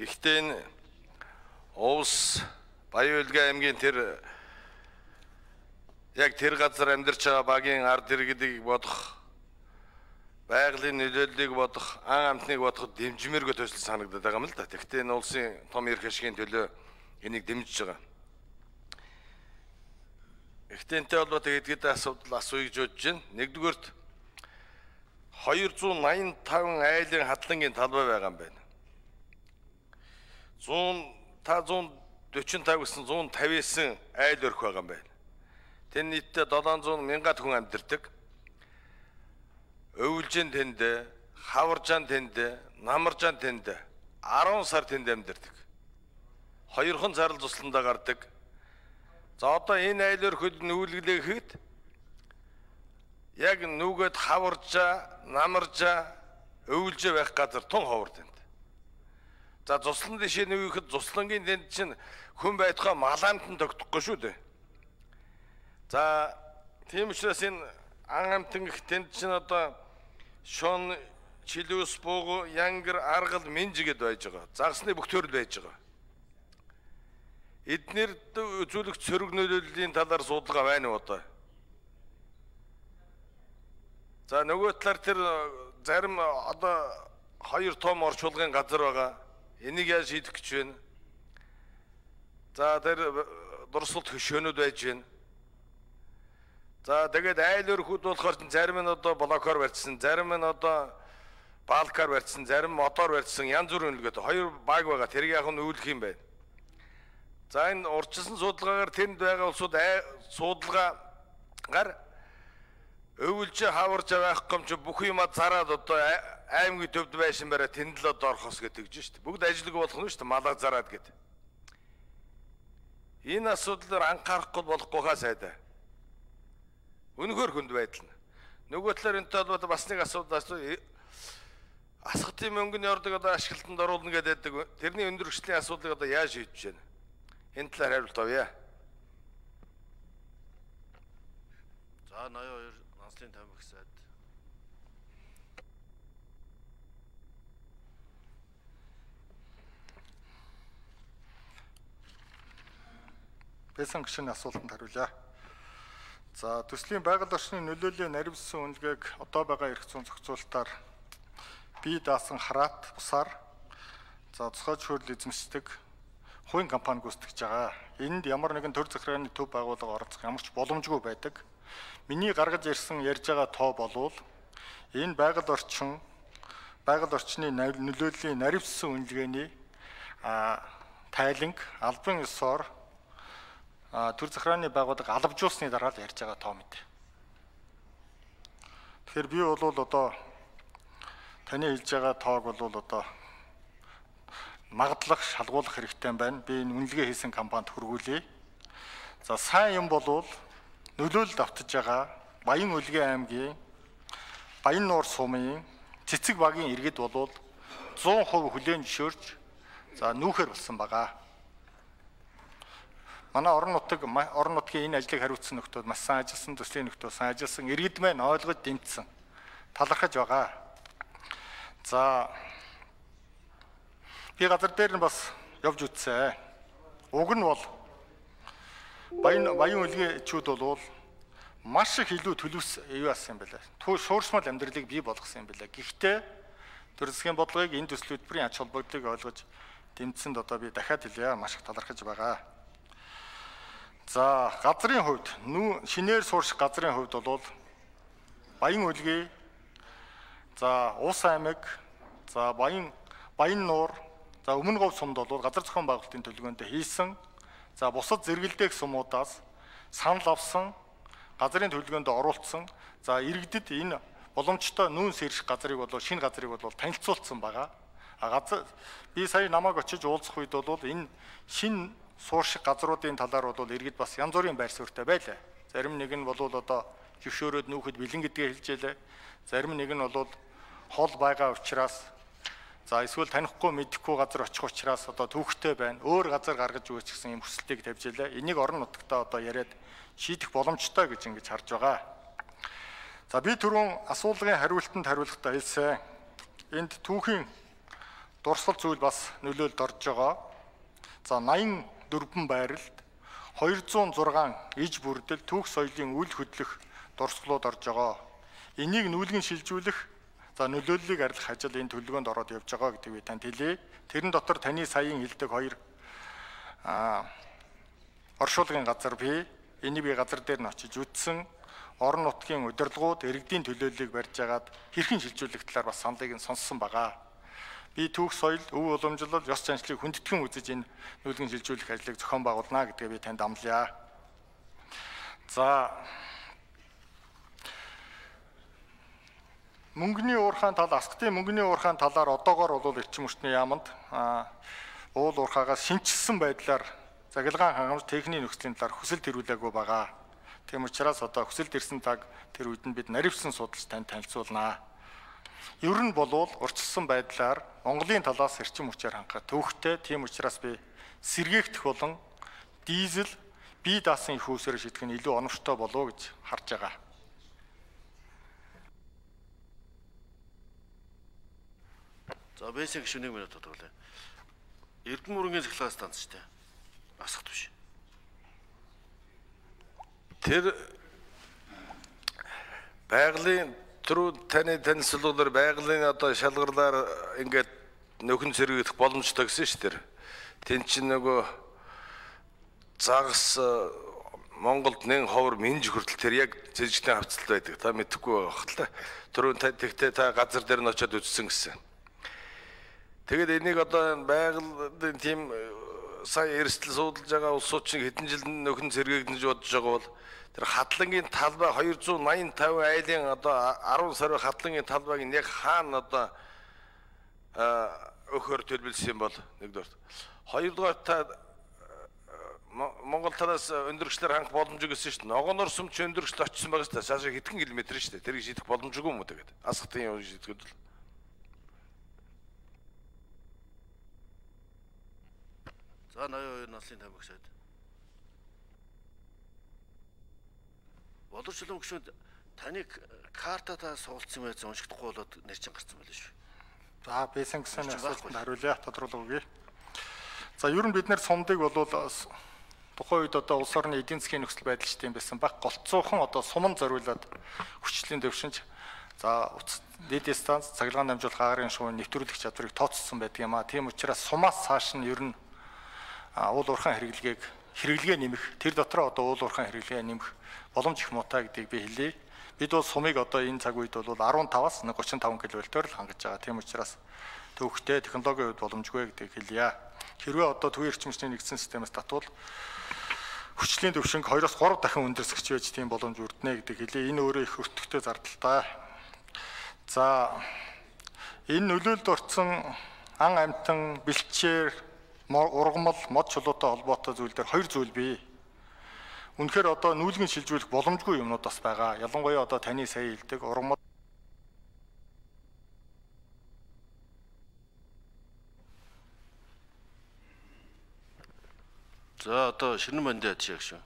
Гэхдээ энэ Увс Баян-Улгийн аймгийн яг тэр газар амьдарч байгаа багийн ард иргэдийг бодох, байгалийн нөлөөллийг бодох, ан амтныг бодоход дэмжмээргүй төсөл санагдаад байгаа юм л да. Гэхдээ энэ улсын том эрх ашигын төлөө энийг дэмжиж байгаа. Гэхдээ энэтэй холбоотой хэд асуудал асууя гэж бодож байна. Нэгдүгээрт 285 айлын хадлангийн талбай байгаа юм байна. 145 гэсэн 159 айл өрх байгаа юм байна. Тэн нийтдээ 700 мянгаад хүн амьдардаг. Өвөлжин тэнд, хаваржаан тэнд, намаржаан тэнд 10 сар тэнд амьдардаг. 2хан сарл тусландаа гардаг. За одоо энэ айл өрхөд нүүлгэлээхэд яг нүгэд хаваржаа, намаржаа, өвөлжөө байх газар тун ховор тэнд. За цуслан дэшээ нүгэхэд цуслангийн тэнд чинь хүн байтугай малаамтан тогтохгүй шүү дээ. За тийм учраас энэ ан амтан гэх тэнд чинь одоо шон, чилүүс, буугу, янгар, аргал, минж гэдээ байж байгаа. Загсны бүх төрөл байж байгаа. Эднэрд үзүүлэгч сөрөг нөлөөллийн талаар судалгаа байна уу одоо? За нөгөө талаар тэр зарим одоо 2 том орчуулгын газар байгаа. Энийг яаж шийдэх гэж байна? За тэр дурсгалт хөшөөнүүд байж байна. За тэгээд айл өрхүүд болохоор зарим нь одоо блокоор барьсан, зарим нь одоо балкаар барьсан, зарим мотор барьсан, янз бүрийн үлгээд 2 баг байгаа. Тэрийг яг нь үүлэх юм байна. За энэ урьдчилсан судалгаагаар тэнд байгаа улсууд судалгаагаар өвөлжөө хаварж байх юм чи бүх юмаа зараад одоо аймгийн төвд байшин бараа тэнд л одоо орхос гэдэг гэж шүү дээ. Бүгд ажилгүй болох нь шүү дээ. Малаа зараад гэдэг. Энэ асуудлаар анхаарахгүй болохгүй хаа сайдаа. Үнэхээр хүнд байдал нь. Нөгөө талаар энэтэй холбоотой бас нэг асуудал асхтын мөнгөний ордог одоо ашиглалтанд оруулна гэдэг. Тэрний өндөргөчлийн асуудлыг одоо яаж шийдэж байна? Энэ талаар хариулт авъя. За 82 Нанслын тамхи сайд. Байсан гишүүний асуултанд хариулъя. За төслийн байгаль орчны нөлөөллийн наривсан үнэлгээг одоо байгаа эрх зүйн зохицуулалтаар бие даасан хараат бусаар за цохол шүүрэл эзэмшдэг хувийн компани гүйцэтгэж байгаа. Энд ямар нэгэн төр захиргааны төв байгууллага оролцох ямар ч боломжгүй байдаг. Миний гаргаж ирсэн ярьж байгаа тоо болвол энэ байгаль орчны нөлөөллийн наривсан үнэлгээний тайланг албан ёсоор төр захиргааны байгууллага алавжуулсны дараа л ярьж байгаа тоо мэт. Тэгэхээр би бол одоо таны хэлж байгаа тоог бол одоо магадлах, шалгуулах хэрэгтэй байна. Би энэ үнэлгээ хийсэн компанид хөргүүлье. За сайн юм болвол нөлөөлөлд автаж байгаа Баян-Улгийн аймгийн Баян-Нуур сумын цэцэг багийн иргэд болвол 100% хүлээн зөвшөөрч за нүүхээр болсон байгаа. Манай орон нутгийн энэ ажлыг хариуцсан нөхдүүд маш сайн ажилласан, төслийн нөхдөө сайн ажилласан, иргэд маань ойлгож дэмжсэн, талархаж байгаа. За би газар дээр нь бас явж үзсэн. Уг нь бол Баян-Улгийн чүүд бол маш их илүү төлөвс юу асан юм бэлээ. Шууршмал амьдралыг бий болгосон юм бэлээ. Гэхдээ төр засгийн бодлогыг энэ төсөл хөтөлбөрийн ач холбогдлыг ойлгож дэмжсэнд одоо би дахиад хэлье. Маш их талархаж байгаа. За газрын хувьд шинээр суурших газрын хувьд бол Баян-Улгийн за Ус аймаг за Баян-Нуур за Өмнө Говь сумд бол газар зохион байгуулалтын төлөвлөгөөнд хийсэн за бусад зэрэгэлдэх сумуудаас санал авсан газрын төлөвлөгөөнд оруулсан за иргэдэд энэ боломжтой нүүн сэрших газрыг бол шинэ газрыг бол танилцуулсан байгаа. Би сая намайг очиж уулзах үед бол энэ шинэ суурших газруудын талаар бол иргэд бас янз бүрийн байр суурьтай байлаа. Зарим нэг нь бол одоо зөвшөөрөөд нүүхэд бэлэн гэдгээ хэлжээ. Зарим нэг нь бол хол байгаа учраас за эсвэл танихгүй мэдэхгүй газар очих учраас одоо түүхтэй байна. Өөр газар гаргаж өгөөч гэсэн юм хүсэлтийг тавьж илээ. Энийг орон нутгтаа одоо яриад шийдэх боломжтой гэж ингэж харж байгаа. За би түрүүн асуулгын хариултанд хариулахдаа хэлсэн. Энд түүхийн дурсгал зүйл бас нөлөөлөлд орж байгаа. За 84 байралд 206 иж бүрдэл түүх соёлын үйл хөдлөх дурсгалууд орж байгаа. Энийг нүүлгэн шилжүүлэх нөлөөллийг арилгах ажил энэ төлөвлөгөөнд ороод явж байгаа гэдэг би танд хэлье. Тэрэн дотор таны саяын хэлдэг 2 оршуулгын газар бий. Энийг би газар дээр нь очиж үзсэн. Орон нутгийн удирдлагууд иргэдийн төлөөллийг барьж агаад хэрхэн шилжүүлэх талаар бас саналыг нь сонссон байгаа. Би түүх соёл, өв уламжлал, ёс заншлыг хүндэтгэн үзэж энэ нүүлгэн шилжүүлэх ажлыг зохион байгуулна гэдгээ би танд амлая. За мөнгөний уурхайн тал, асгтын мөнгөний уурхайн талаар одоогоор бол эрчим хүчний яамд уул уурхаагаас шинжилсэн байдлаар загилгаан хангамж техникийн нөхцөлийн талаар хүсэлт төрүүлээгүй байгаа. Тийм учраас одоо хүсэлт ирсэн цаг тэр үед нь бид наривсан судалж танд танилцуулнаа. Ер нь болвол урьдчилсан байдлаар Монголын талаас эрчим хүчээр хангах төвөгтэй. Тийм учраас би сэргээгдэх болон дизель бие даасан их үүсээр шийдэх нь илүү оновчтой болов гэж харж байгаа. За бэсик гişүн 1 минут тоглоё. Эрдэнэ мөрөнгийн цахилгаан станц шүү дээ. Асахт биш. Тэр байгалийн түрүү таны танилцуулгаар байгалийн одоо шалгарлаар ингээд нөхөн зэрэгдэх боломжтой гэсэн шүү дээ. Тэн чинь нөгөө загас Монголд 1% минж хүртэл тэр яг зэрэгтэй хавцалт байдаг. Та мэдэхгүй байх л та. Түрүү тэгтээ та газар дээр нь очиод үзсэн гэсэн. Тэгээд энийг одоо байгалийн тийм сая эрсдэл суудалж байгаа улсуудчиг хэдэн жил нөхөн зэрэгдэж бодож байгаа бол тэр хадлангийн талбай 285 айлын одоо 10 сарын хадлангийн талбайг яг хаана одоо өхөр төлөвлөсөн бол нэгдүгээр. Хоёрдугаар та Монгол талаас өндөргчлэр хангах боломжгүй гэсэн шүү дээ. Ногоонор сүмч өндөргчл очсон байгаа шүү дээ. Цаашаа хэдхэн километр шүү дээ. Тэрийг шийдэх боломжгүй юм уу тэгээд. Асхтын юм шийдэхэд л. За 82 наслын тамхи сайд. Боловсролын гүшүүд таны картатаа суулцсан байж уншигдахгүй болоод нэрчин гарсан байл шүү. За бэсэн гэсэн асуултанд хариулъя, тодруулах үгүй. За ер нь бид нэр сумдыг бол тухайн үед одоо улс орны эдийн засгийн нөхцөл байдал ч тийм байсан баг голцоохон одоо суман зориулаад хүчлийн дэвшинж за дээд станц цахилгаан дамжуулах агарын шуурын нэвтрүүлэх чадварыг тооцсон байдаг юм а. Тийм учраас сумаас цааш нь ер нь уул уурхайн хэрэглэгээ нэмэх тэр дотроо одоо уул уурхайн хэрэглэгээ нэмэх боломж их муутай гэдгийг би хэлье. Бид бол сумыг одоо энэ цаг үед бол 15-аас 35 кВт-оор л хангаж байгаа. Тийм учраас төвөгтэй технологийн хувьд боломжгүй гэдгийг хэлье. Хэрвээ одоо төвийн эрчим хүчний нэгдсэн системээс татвал хүчлийн төвшинг 2-3 дахин өндөрсгч байж тийм боломж үрдэнэ гэдэг хэлье. Энэ өөрөө их өртөгтэй зардалтай. За энэ нөлөөлөлд орсон ан амьтан, бэлчээр, ургамал, мод чулуутай холбоотой зүйл дээр 2 зүйл бий. Үнэхээр одоо нүүлгэн шилжүүлэх боломжгүй юмнууд бас байгаа. Ялангуяа одоо таны сая хэлдэг ургамал. За одоо шинэн бандиад шиг шүү.